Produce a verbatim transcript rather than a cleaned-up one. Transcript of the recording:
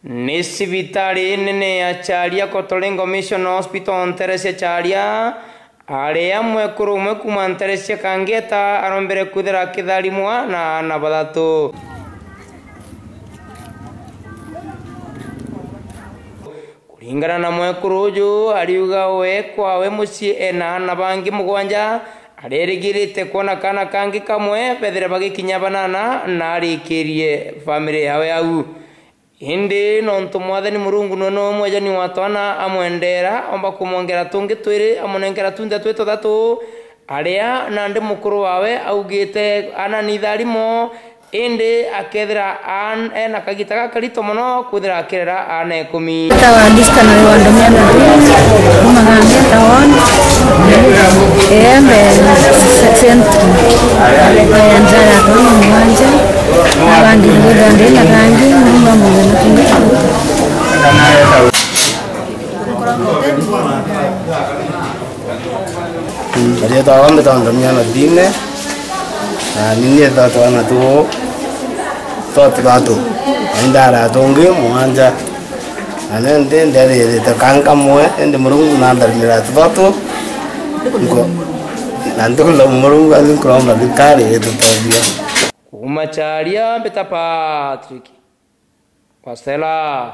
Ni cibitari nene ya Charia, Kotolengo Mission Hospital, ntere cia Charia, aria mwekuru umwe kuuma ntere cia Kangeta arombere kwithira akitharimwa na aana bathatu. Kuringana na mwekuru uju, ariuga we kwawe mucii ena aana bangi mugwanja, arerigirite kwona kaana kangi kamwe bethire bagikinya banana na arikirie family yawe au. Indi nontu Mwathani Murungu nwe no mwejani wa twana, amwendera, omba kumwongera tungi twiri, amunenkera tunthe twi tuthatu, aria nandi mukuru wawe augite aana ni itharimo, indi akethira aan-, ena kagita gakarito mono kwithira akirera aana ikumi. Tawa Diska na Rwanda Miana Dini, kuma Gangeta Ward, Embe Central, ya njara ya twana mugwanja. Abandi nigwithira ndi na kangi, nyumba mugana kingi. Riitwa rwa mbitagwa Ndomia Martine, na ni nietha twana tuu twa tuthatu, na indara tungi mugwanja, na ni ndi nderirite kangi kamwe, indi Murungu nantharimira tuthatu, nko-, na ntuku Murungu athi nkuromba thirikari itutethia. Kuuma Charia, mbita Patrick Wasela.